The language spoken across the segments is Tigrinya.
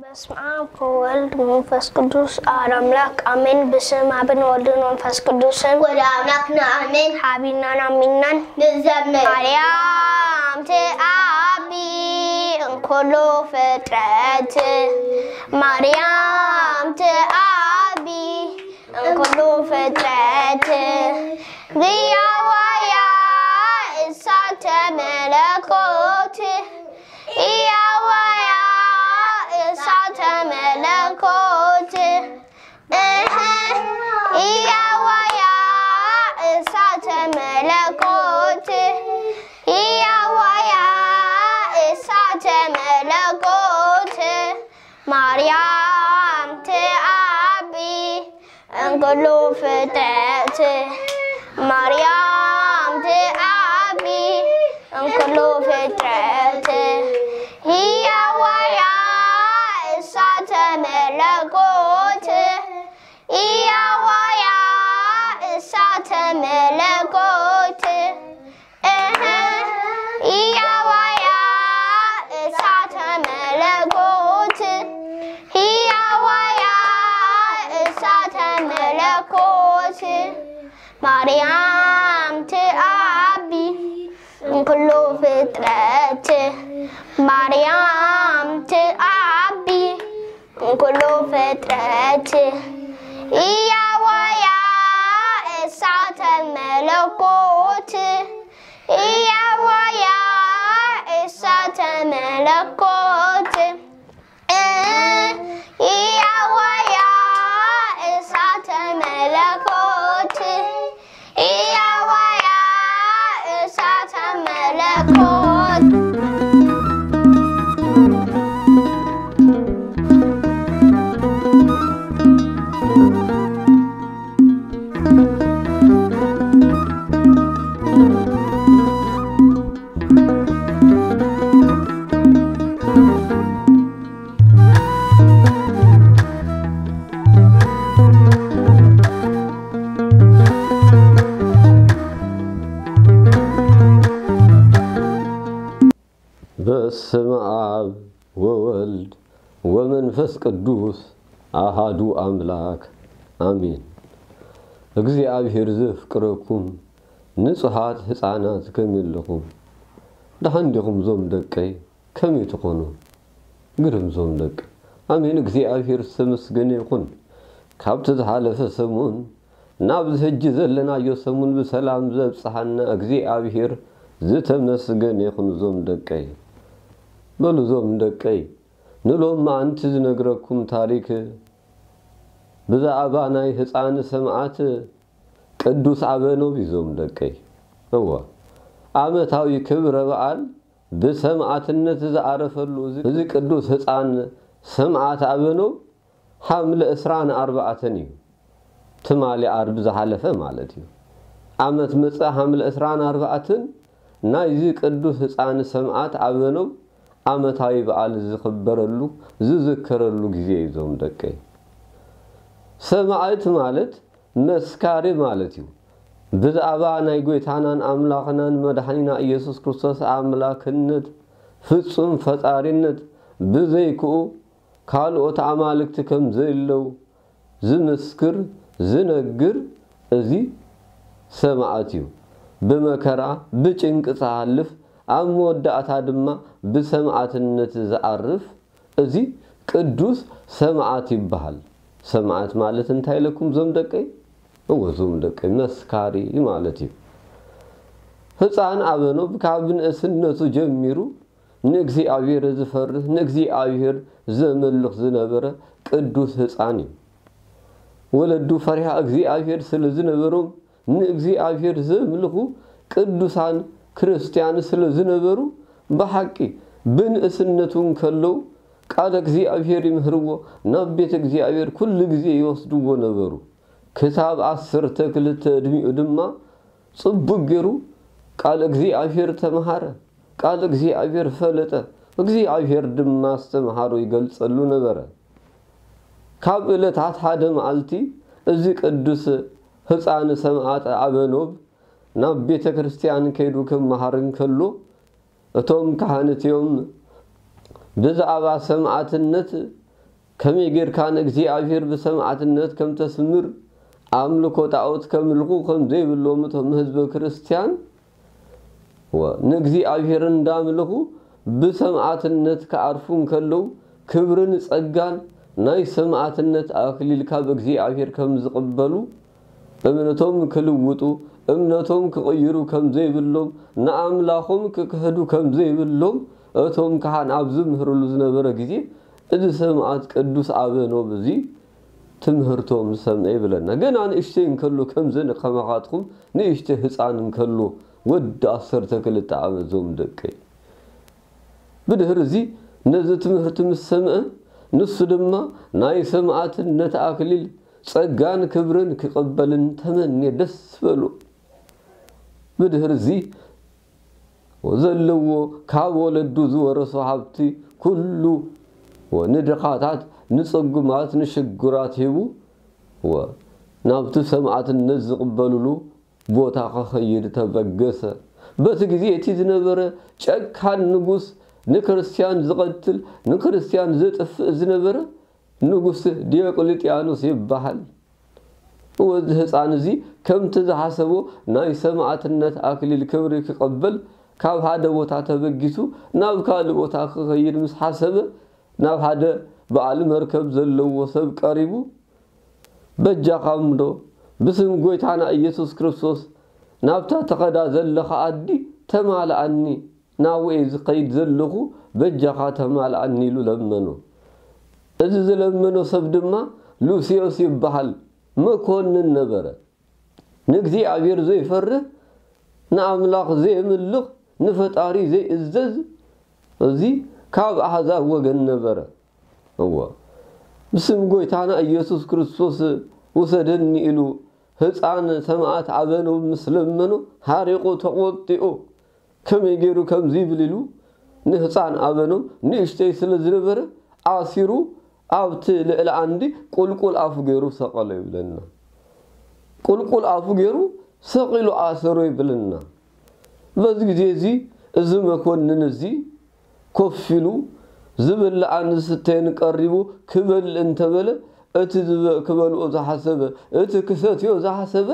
በስመ አብ ወወልድ ወመንፈስ ቅዱስ አሐዱ አምላክ አሜን። ብስም አብን ወልድን መንፈስ ቅዱስን ወደ አምላክና አሜን። ሓቢናን አሚናን ንዘምር። ማርያም ትዓቢ እንኩሉ ፍጥረት፣ ማርያም ትዓቢ እንኩሉ ፍጥረት፣ ህያዋያ እሳተ መለኮት፣ ህያዋያ እሳተ መለኮት፣ እህ፣ ህያዋያ እሳተ መለኮት፣ ህያዋያ እሳተ መለኮት፣ ማርያም ትዓቢ እንኩሉ ፍጥረት፣ ማርያም ትዓቢ እንኩሉ ፍጥረት፣ ህያዋያ እሳተ መለኮት፣ ህያዋያ እሳተ መለኮት፣ እህ፣ ህያዋያ እሳተ መለኮት፣ ህያዋያ እሳተ መለኮት፣ ማርያም ትዓቢ እንኩሉ ፍጥረት፣ ማርያም ትዓቢ እንኩሉ ፍጥረት፣ ህያዋያ እሳተ መለኮት፣ ህያዋያ እሳተ መለኮት፣ ህያዋያ እሳተ መለኮት፣ ህያዋያ እሳተ መለኮት። በስመ አብ ወወልድ ወመንፈስ ቅዱስ አሃዱ አምላክ አሜን። እግዚኣብሔር ዘፍቅረኩም ንጹሃት ህፃናት ከመይ ኣለኹም? ደሓን ዲኹም ዞም ደቀይ? ከመይ ትኾኑ? ግርም ዞም ደቀይ። ኣሜን። እግዚኣብሔር ዝተመስገነ ይኹን። ካብቲ ዝሓለፈ ሰሙን ናብዚ ሕጂ ዘለናዮ ሰሙን ብሰላም ዘብጽሓና እግዚኣብሔር ዝተመስገነ ይኹን። ዞም ደቀይ፣ በሉ ዞም ደቀይ፣ ንሎም መዓንቲ ዝነግረኩም ታሪክ ብዛዕባ ናይ ህፃን ሰማዕት ቅዱስ ኣበኖብ እዩ። ዞም ደቀይ፣ እወ፣ ዓመታዊ ክብረ በዓል ብሰማዕትነት ዝዓረፈሉ እዚ፣ እዚ ቅዱስ ህፃን ሰማዕት ኣበኖብ ሓምለ ዕስራን ኣርባዕተን እዩ። ትማሊ ዓርቢ ዝሓለፈ ማለት እዩ። ዓመት መጸ ሓምለ ዕስራን ኣርባዕተን ናይዚ ቅዱስ ህፃን ሰማዕት ኣበኖብ ዓመታዊ በዓል ዝኽበረሉ፣ ዝዝከረሉ ግዜ እዩ። ዞም ደቀይ፣ ሰማዕት ማለት መስካሪ ማለት እዩ። ብዛዕባ ናይ ጐይታናን ኣምላኽናን መድሓኒና ኢየሱስ ክርስቶስ ኣምላክነት፣ ፍጹም ፈጣሪነት፣ ብዘይክኡ ካልኦት ኣማልክቲ ከም ዘየለዉ ዝምስክር፣ ዝነግር እዚ ሰማዕት እዩ። ብመከራ ብጭንቂ ዝሓልፍ፣ ኣብ መወዳእታ ድማ ብሰማዕትነት ዝዓርፍ እዚ ቅዱስ ሰማዕት ይበሃል። ሰማዕት ማለት እንታይ ኢለኩም ዞም ደቀይ? እወ ዞም ደቀይ፣ መስካሪ ማለት እዩ። ህፃን ኣበኖብ ካብ ንእስነቱ ጀሚሩ ንእግዚኣብሔር ዝፈርህ፣ ንእግዚኣብሔር ዘመልኽ ዝነበረ ቅዱስ ህፃን እዩ። ወለዱ ፈሪሃ እግዚኣብሔር ስለ ዝነበሮም ንእግዚኣብሔር ዘምልኹ ቅዱሳን ክርስትያን ስለ ዝነበሩ ብሓቂ ብንእስነቱ እንከለዉ ቃል እግዚኣብሔር ይምህርዎ፣ ናብ ቤተ እግዚኣብሔር ኩሉ ግዜ ይወስድዎ ነበሩ። ክሳብ ዓሰርተ ክልተ ዕድሚኡ ድማ ጽቡቕ ገይሩ ቃል እግዚኣብሔር ተምሃረ፣ ቃል እግዚኣብሔር ፈለጠ፣ እግዚኣብሔር ድማ ኣስተምሃሮ ይገልጸሉ ነበረ። ካብ ዕለታት ሓደ መዓልቲ፣ እዚ ቅዱስ ህፃን ሰማዕት ኣበኖብ ናብ ቤተ ክርስቲያን ከይዱ ክመሃር እንከሎ፣ እቶም ካህን እቲኦም ብዛዕባ ሰማዕትነት፣ ከመይ ጌርካ ንእግዚኣብሔር ብሰማዕትነት ከም ተስምር፣ ኣምልኮ ጣዖት ከምልኹ ከም ዘይብሎም እቶም ህዝበ ክርስቲያን፣ ወ-፣ ንእግዚኣብሔር እንዳምልኹ ብሰማዕትነት ክዓርፉ እንከለዉ፣ ክብርን ጸጋን ናይ ሰማዕትነት ኣክሊል ካብ እግዚኣብሔር ከም ዝቕበሉ፣ እምነቶም ክልውጡ፣ እምነቶም ክቕይሩ ከም ዘይብሎም፣ ንኣምላኾም ክክህዱ ከም ዘይብሎም፣ እቶም ካህን ኣብ ዝምህርሉ ዝነበረ ግዜ፣ እዚ ሰማዕት ቅዱስ ኣበኖብ እዚ ትምህርቶም ዝሰምዐ ይብለና። ገና ንእሽተይ እንከሎ ከምዘን ከማኻትኩም ንእሽተይ ህፃን እንከሎ፣ ወዲ ዓሰርተ ክልተ ዓመት ዞም ደቀይ። ብድሕሪ እዚ ነዚ ትምህርቲ ምስ ሰምዐ፣ ንሱ ድማ ናይ ሰማዕትነት ኣክሊል ጸጋን ክብርን ክቕበልን ተመንየ ደስ በሎ። ብድሕሪ እዚ ዘለዎ ካብ ወለዱ ዝወረሶ ሃብቲ ኩሉ ንድኻታት፣ ንጽጉማት፣ ንሽጉራት ሂቡ፣ ወ-፣ ናብቲ ሰማዕትነት ዝቕበልሉ ቦታ ክኸይድ ተበገሰ። በቲ ግዜ እቲ ዝነበረ ጨካን ንጉስ፣ ንክርስትያን ዝቐትል፣ ንክርስትያን ዘጥፍእ ዝነበረ ንጉስ ዲዮቅልጥያኖስ ይበሃል። ወዚ ህፃን እዚ ከምቲ ዝሓሰቦ ናይ ሰማዕትነት ኣክሊል ክብሪ ክቐበል ካብ ሓደ ቦታ ተበጊሱ ናብ ካልእ ቦታ ክኸይድ ምስ ሓሰበ፣ ናብ ሓደ በዓል መርከብ ዘለዎ ሰብ ቀሪቡ፣ "በጃኻ እምዶ ብስም ጎይታና ኢየሱስ ክርስቶስ ናብታ ትኸዳ ዘለኻ ዓዲ ተማልኣኒ፣ ናብኡ እየ ዝኸይድ ዘለኹ፣ በጃኻ ተማልኣኒ" ኢሉ ለመኖ። እዚ ዝለመኖ ሰብ ድማ ሉስዮስ ይበሃል፣ መኮንን ነበረ። ንእግዚኣብሔር ዘይፈርህ፣ ንኣምላኽ ዘየምልኽ፣ ንፈጣሪ ዘይእዘዝ፣ እዚ ካብ ኣሕዛብ ወገን ነበረ። እወ፣ ብስም ጎይታና ኢየሱስ ክርስቶስ ውሰደኒ ኢሉ ህፃን ሰማዕት ኣበኖብ ምስ ለመኖ፣ ሓሪቑ ተቖጢኡ፣ ከመይ ገይሩ ከምዚ ይብል ኢሉ ንህፃን ኣበኖብ ንእሽተይ ስለ ዝነበረ፣ ኣሲሩ ኣብቲ ልዕሊ ዓንዲ ቁልቁል ኣፉ ገይሩ ሰቐሎ ይብለና። ቁልቁል ኣፉ ገይሩ ሰቒሉ ኣሰሮ ይብለና። በዚ ግዜ እዚ፣ እዚ መኮንን እዚ ኮፍ ኢሉ፣ ዝብላዕን ዝስተየን ቀሪቡ ክበልዕ እንተበለ፣ እቲ ዝበ-፣ ክበልዖ ዝሓሰበ፣ እቲ ክሰትዮ ዝሓሰበ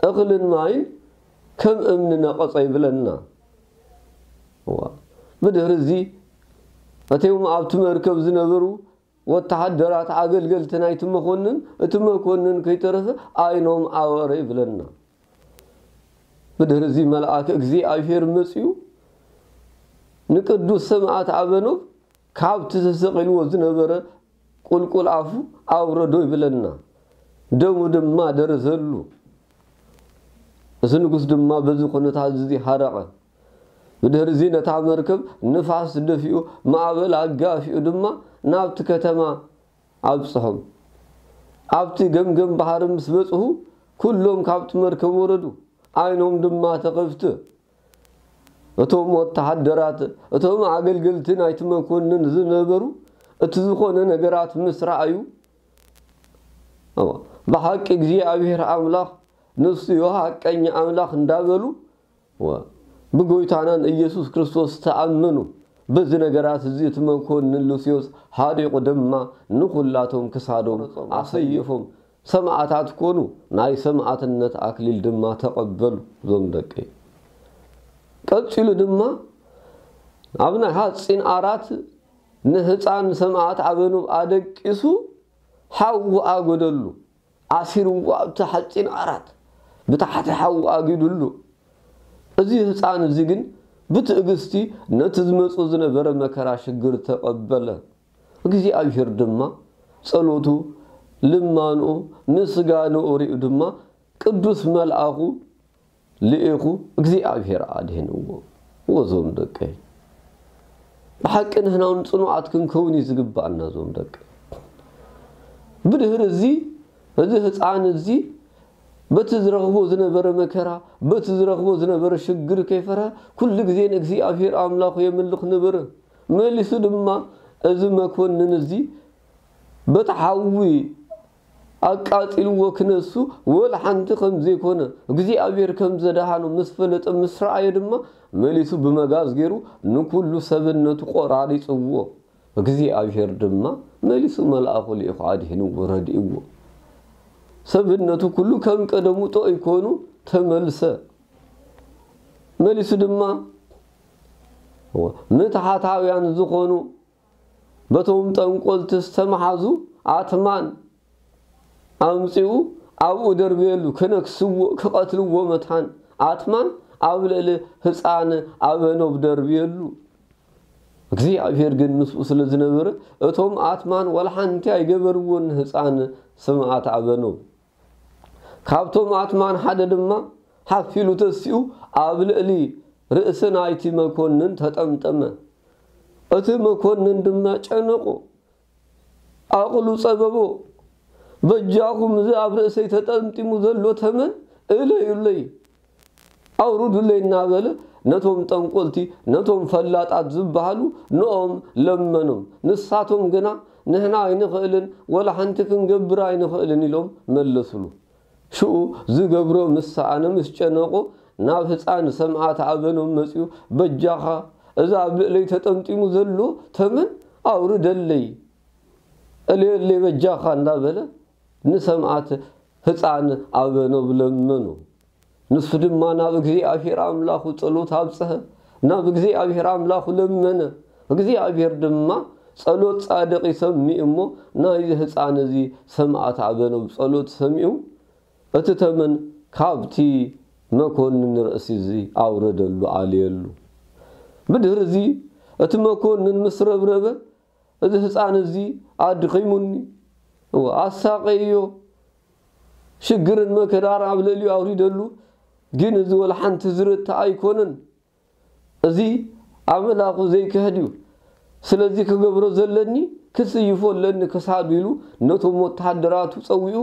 እኽልን ማይን ከም እምኒ ነቐጸ ይብለና። እዋ። ብድሕሪ እዚ፣ እቶም ኣብቲ መርከብ ዝነበሩ ወተሃደራት፣ ኣገልገልቲ ናይቲ መኮንን፣ እቲ መኮንን ከይተረፈ ዓይኖም ኣወረ ይብለና። ብድሕሪ እዚ መልኣክ እግዚኣብሔር መጺኡ፣ ንቅዱስ ሰማዕት ኣበኖብ ካብቲ ተሰቒልዎ ዝነበረ ቁልቁል ኣፉ ኣውረዶ ይብለና። ደሙ ድማ ደረዘሉ። እዚ ንጉስ ድማ በዚ ኩነታት እዚ ሃረቐ። ብድሕሪ እዚ ነታ መርከብ ንፋስ ደፊኡ፣ ማዕበል ኣጋፊኡ ድማ ናብቲ ከተማ ኣብጽሖም። ኣብቲ ገምገም ባሕሪ ምስ በጽሑ፣ ኩሎም ካብቲ መርከብ ወረዱ፣ ዓይኖም ድማ ተኸፍተ። እቶም ወተሃደራት፣ እቶም ኣገልገልቲ ናይቲ መኮንን ዝነበሩ፣ እቲ ዝኾነ ነገራት ምስ ረኣዩ፣ እዋ፣ ብሓቂ እግዚኣብሔር ኣምላኽ ንሱ እዩ ሓቀኛ ኣምላኽ እንዳበሉ፣ እዋ፣ ብጎይታናን ኢየሱስ ክርስቶስ ተኣመኑ። በዚ ነገራት እዚ እቲ መኮንን ሉስዮስ ሓሪቑ ድማ ንኹላቶም ክሳዶም ኣሰይፎም ሰማዕታት ኮኑ፣ ናይ ሰማዕትነት ኣክሊል ድማ ተቐበሉ። እዞም ደቀይ፣ ቀጺሉ ድማ ኣብ ናይ ሓጺን ዓራት ንህፃን ሰማዕት ኣበኑብ ኣደቂሱ ሓዊ ኣጎደሉ። ኣሲርዎ ኣብቲ ሓጺን ዓራት ብታሕቲ ሓዊ ኣጊዱሉ። እዚ ህፃን እዚ ግን ብትዕግስቲ ነቲ ዝመጹ ዝነበረ መከራ ሽግር ተቐበለ። እግዚኣብሔር ድማ ጸሎቱ፣ ልማንኡ፣ ምስጋንኡ ሪኡ ድማ ቅዱስ መልኣኹ ልኢኹ እግዚኣብሔር ኣድህንዎ። ወዞም ደቀይ፣ ብሓቂ ንሕና እውን ጽኑዓት ክንከውን እዩ ዝግባኣና። ዞም ደቀይ፣ ብድህሪ እዚ፣ እዚ ህፃን እዚ በቲ ዝረኽቦ ዝነበረ መከራ፣ በቲ ዝረኽቦ ዝነበረ ሽግር ከይፈርሀ፣ ኩሉ ግዜ ንእግዚኣብሔር ኣምላኹ የምልኽ ነበረ። መሊሱ ድማ እዚ መኮንን እዚ በቲ ሓዊ ኣቃጺልዎ ክነሱ ወላ ሓንቲ ከም ዘይኮነ እግዚኣብሔር ከም ዘድሓኖ ምስ ፈለጠ ምስ ረኣየ ድማ መሊሱ ብመጋዝ ገይሩ ንኩሉ ሰብነቱ ቆራሪጽዎ። እግዚኣብሔር ድማ መሊሱ መልኣኹ ልኢኹ ኣድሒንዎ ረድእዎ። ሰብነቱ ኩሉ ከም ቀደሙ ጥዑይ ኮኑ ተመልሰ። መሊሱ ድማ ምትሓታውያን ዝኾኑ በቶም ጠንቆልቲ ዝተመሓዙ ኣትማን ኣምጺኡ ኣብኡ ደርብየሉ። ክነክስዎ ክቐትልዎ መታን ኣትማን ኣብ ልዕሊ ህፃን ኣበኖብ ደርብየሉ። እግዚኣብሔር ግን ምስኡ ስለ ዝነበረ እቶም ኣትማን ዋላ ሓንቲ ኣይገበርዎን ንህፃን ሰማእት ኣበኖብ። ካብቶም ኣትማን ሓደ ድማ ሓፍ ኢሉ ተሲኡ ኣብ ልዕሊ ርእሲ ናይቲ መኮንን ተጠምጠመ። እቲ መኮንን ድማ ጨነቆ፣ ዓቕሉ ጸበቦ። በጃኹም እዚ ኣብ ርእሰይ ተጠምጢሙ ዘሎ ተመን እለዩለይ፣ ኣውርዱለይ እናበለ ነቶም ጠንቆልቲ፣ ነቶም ፈላጣት ዝበሃሉ ንኦም ለመኖም። ንሳቶም ግና ንሕና ኣይንኽእልን፣ ወላ ሓንቲ ክንገብር ኣይንኽእልን ኢሎም መለሱሉ። ሽኡ ዝገብሮ ምስ ሰኣነ ምስ ጨነቆ ናብ ህፃን ሰምኣት ኣበኖም መፂኡ፣ በጃኻ እዚ ኣብ ልዕለይ ተጠምጢሙ ዘሎ ተመን ኣውርደለይ፣ እልየለይ በጃኻ እንዳበለ ንሰምኣት ህፃን ኣበኖብ ለመኖ። ንሱ ድማ ናብ እግዚኣብሔር ኣምላኹ ጸሎት ኣብጽሐ፣ ናብ እግዚኣብሔር ኣምላኹ ለመነ። እግዚኣብሔር ድማ ጸሎት ጻድቕ ይሰምዕ እሞ ናይዚ ህፃን እዚ ሰምኣት ኣበኖብ ጸሎት ሰሚዑ እቲ ተመን ካብቲ መኮንን ርእሲ እዚ ኣውረደሉ፣ ኣልየሉ። ብድህሪ እዚ እቲ መኮንን ምስ ረብረበ፣ እዚ ህፃን እዚ ኣድኺሙኒ፣ እወ፣ ኣሳቐዮ፣ ሽግርን መከራን ኣብ ልዕሊኡ ኣውሪደሉ፣ ግን እዚ ወላ ሓንቲ ዝርትዕ ኣይኮነን። እዚ ኣምላኹ ዘይክሕድ እዩ። ስለዚ ክገብሮ ዘለኒ ክስይፎ ኣለኒ ክሳዱ ኢሉ ነቶም ወተሃደራቱ ጸዊዑ፣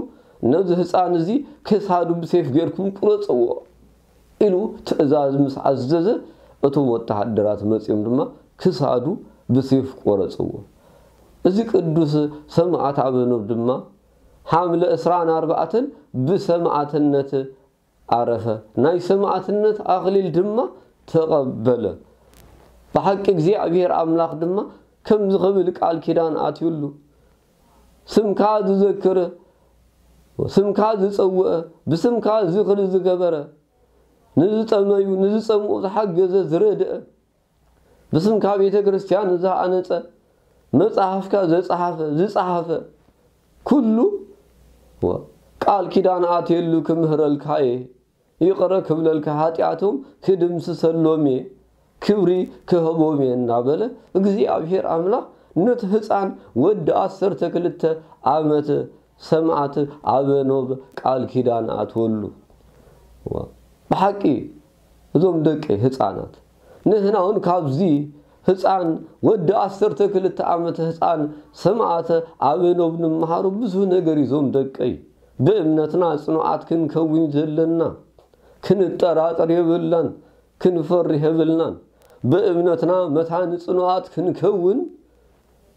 ነዚ ህፃን እዚ ክሳዱ ብሴፍ ጌርኩም ቁረጽዎ ኢሉ ትእዛዝ ምስ ኣዘዘ፣ እቶም ወተሃደራት መጺኦም ድማ ክሳዱ ብሴፍ ቆረጽዎ። እዚ ቅዱስ ሰማዕት ኣበኖብ ድማ ሓምለ ዕስራን ኣርባዕተን ብሰማዕትነት ኣረፈ። ናይ ሰማዕትነት ኣኽሊል ድማ ተቐበለ። ብሓቂ እግዚኣብሔር ኣምላኽ ድማ ከምዚ ኽብል ቃል ኪዳን ኣትዩሉ። ስምካ ዝዘክር፣ ስምካ ዝጸውዐ፣ ብስምካ ዝኽሪ ዝገበረ፣ ንዝጠመዩ፣ ንዝጸምኡ ዝሓገዘ፣ ዝረድአ፣ ብስምካ ቤተ ክርስቲያን ዝሃነጸ፣ መጽሓፍካ ዘጽሓፈ፣ ዝጸሓፈ፣ ኩሉ ቃል ኪዳን ኣትየሉ ክምህረልካ እየ፣ ይቕረ ክብለልካ፣ ሓጢኣቶም ክድምስሰሎም እየ፣ ክብሪ ክህቦም እየ እናበለ እግዚኣብሔር ኣምላኽ ነቲ ህፃን ወዲ ዓሰርተ ክልተ ዓመት ሰማዕት ኣበኖብ ቃል ኪዳን ኣትወሉ። ብሓቂ እዞም ደቂ ህፃናት ንህና እውን ካብዚ ህፃን ወዲ ዓሰርተ ክልተ ዓመት ህፃን ሰማዕት ኣበኖብ ንምሃሩ ብዙ ነገር እዩ። እዞም ደቀይ ብእምነትና ጽኑዓት ክንከውን ዘለና፣ ክንጠራጠር የብልናን፣ ክንፈርህ የብልናን። ብእምነትና መታን ጽኑዓት ክንከውን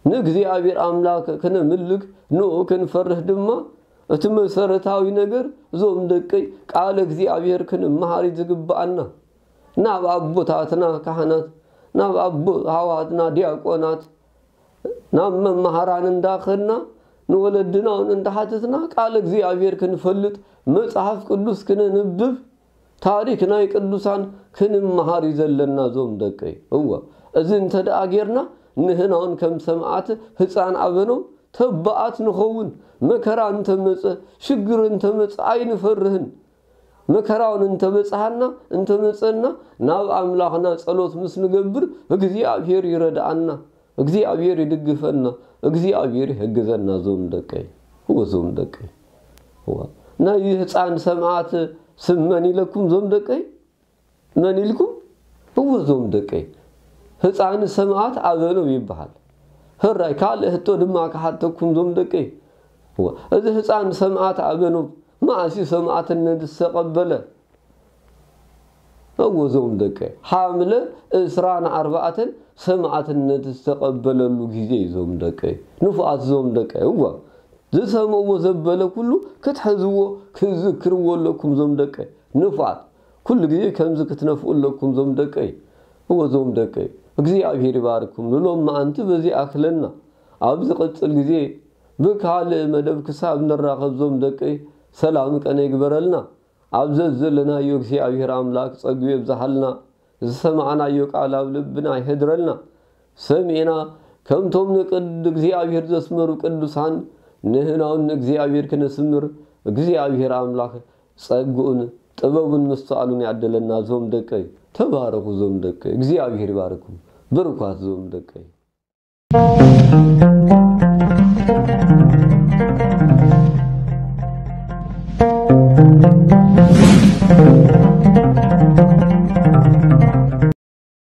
ንእግዚኣብሔር ኣምላክ ክነምልክ ንኡ ክንፈርህ ድማ እቲ መሰረታዊ ነገር እዞም ደቀይ ቃለ እግዚኣብሔር ክንመሃር እዩ ዝግብኣና። ናብ ኣቦታትና ካህናት፣ ናብ ኣቦ ኣሕዋትና ዲያቆናት፣ ናብ መማሃራን እንዳኸድና ንወለድና እውን እንዳሓተትና ቃለ እግዚኣብሔር ክንፈልጥ መጽሓፍ ቅዱስ ክነንብብ ታሪክ ናይ ቅዱሳን ክንመሃር እዩ ዘለና እዞም ደቀይ። እወ፣ እዚ እንተ ደኣ ጌርና ንህና እውን ከም ሰማዕት ህፃን ኣበኖም ተባኣት ንኸውን። መከራ እንተመጸ ሽግር እንተመጸ ኣይንፈርህን። መከራውን እንተበጽሓና እንተመጸና ናብ ኣምላኽና ጸሎት ምስ ንገብር እግዚኣብሔር ይረድኣና፣ እግዚኣብሔር ይድግፈና፣ እግዚኣብሔር ይሕግዘና። ዞም ደቀይ እወ ዞም ደቀይ እወ ናይ ህፃን ሰምዓት ስም መን ኢለኩም ዞም ደቀይ? መን ኢልኩም? እወ ዞም ደቀይ ህፃን ሰምዓት ኣበኖብ ይበሃል። ህራይ ካልእ ህቶ ድማ ክሓተኩም ዞም ደቀይ እወ እዚ ህፃን ሰምዓት ኣበኖብ መዓስ እዩ ሰማዕትነት ዝተቐበለ? እወ ዞም ደቀይ፣ ሓምለ ዕስራን ኣርባዕተን ሰማዕትነት ዝተቐበለሉ ግዜ እዩ ዞም ደቀይ። ንፉዓት ዞም ደቀይ፣ እወ ዝሰምዕዎ ዘበለ ኩሉ ክትሕዝዎ ክትዝክርዎ ኣለኩም ዞም ደቀይ። ንፉዓት ኩሉ ግዜ ከምዚ ክትነፍኡ ኣለኩም ዞም ደቀይ። እወ ዞም ደቀይ፣ እግዚኣብሔር ይባርኩም። ንሎም መዓንቲ በዚ ኣክለና። ኣብ ዝቕጽል ግዜ ብካልእ መደብ ክሳብ ንራኸብ ዞም ደቀይ፣ ሰላም ቀነ ይግበረልና። ኣብ ዘዘለናዮ እግዚኣብሔር ኣምላክ ጸጉ የብዝሓልና። ዝሰማዕናዮ ቃል ኣብ ልብና ይሕድረልና። ሰሚዕና ከምቶም ንቅድ እግዚኣብሔር ዘስመሩ ቅዱሳን ንህናውን ንእግዚኣብሔር ክነስምር እግዚኣብሔር ኣምላክ ጸግኡን ጥበቡን ምስተዋሉን ያደለና። ዞም ደቀይ ተባረኹ። ዞም ደቀይ እግዚኣብሔር ይባርኩም። ብሩካት ዞም ደቀይ።